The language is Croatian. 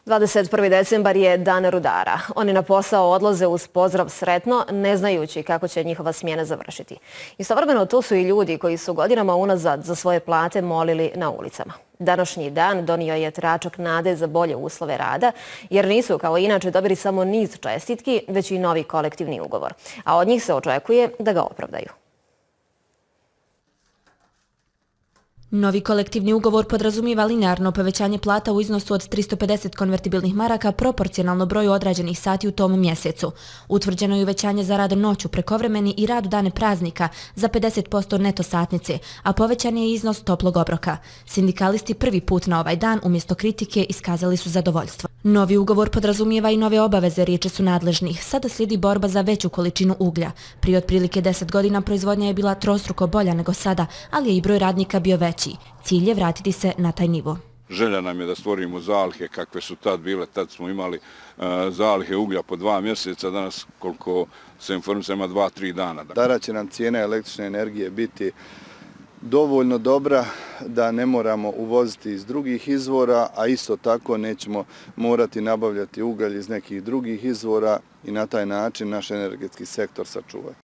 21. decembar je dan rudara. Oni na posao odlaze uz pozdrav sretno, ne znajući kako će njihova smjena završiti. Istovremeno tu su i ljudi koji su godinama unazad za svoje plate molili na ulicama. Današnji dan donio je tračak nade za bolje uslove rada, jer nisu kao inače dobili samo niz čestitki, već i novi kolektivni ugovor. A od njih se očekuje da ga opravdaju. Novi kolektivni ugovor podrazumijeva linearno povećanje plata u iznosu od 350 konvertibilnih maraka proporcionalno broju odrađenih sati u tom mjesecu. Utvrđeno je uvećanje za rad noću, prekovremeni i rad u dane praznika za 50% neto satnice, a povećan je iznos toplog obroka. Sindikalisti prvi put na ovaj dan umjesto kritike iskazali su zadovoljstvo. Novi ugovor podrazumijeva i nove obaveze, riječi su nadležnih. Sada slijedi borba za veću količinu uglja. Prije otprilike 10 godina proizvodnja je bila trostruko bolja nego sada, ali je i broj radnika bio veći. Cilj je vratiti se na taj nivo. Želja nam je da stvorimo zalihe kakve su tad bile. Tad smo imali zalihe uglja po 2 mjeseca, danas koliko se informišemo 2-3 dana. Tada će nam cijena električne energije biti dovoljno dobra da ne moramo uvoziti iz drugih izvora, a isto tako nećemo morati nabavljati ugalj iz nekih drugih izvora i na taj način naš energetski sektor sačuvati.